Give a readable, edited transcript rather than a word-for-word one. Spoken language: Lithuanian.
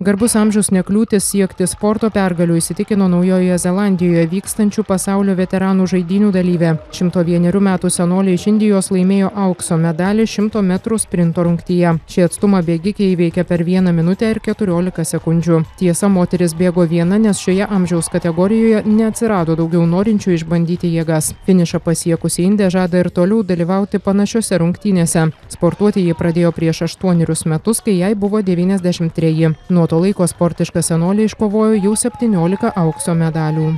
Garbus amžius nekliūtis siekti sporto pergalių, įsitikino Naujojoje Zelandijoje vykstančių pasaulio veteranų žaidynių dalyvė. 101 metų senolė iš Indijos laimėjo aukso medalį 100 metrų sprinto rungtyje. Šį atstumą bėgikė įveikė per 1 minutę ir 14 sekundžių. Tiesa, moteris bėgo viena, nes šioje amžiaus kategorijoje neatsirado daugiau norinčių išbandyti jėgas. Finišą pasiekusi Indė žada ir toliau dalyvauti panašiose rungtynėse. Sportuoti ji pradėjo prieš 8 metus, kai jai buvo 93. Nuo to laiko sportiška senolė iškovojo jau 17 aukso medalių.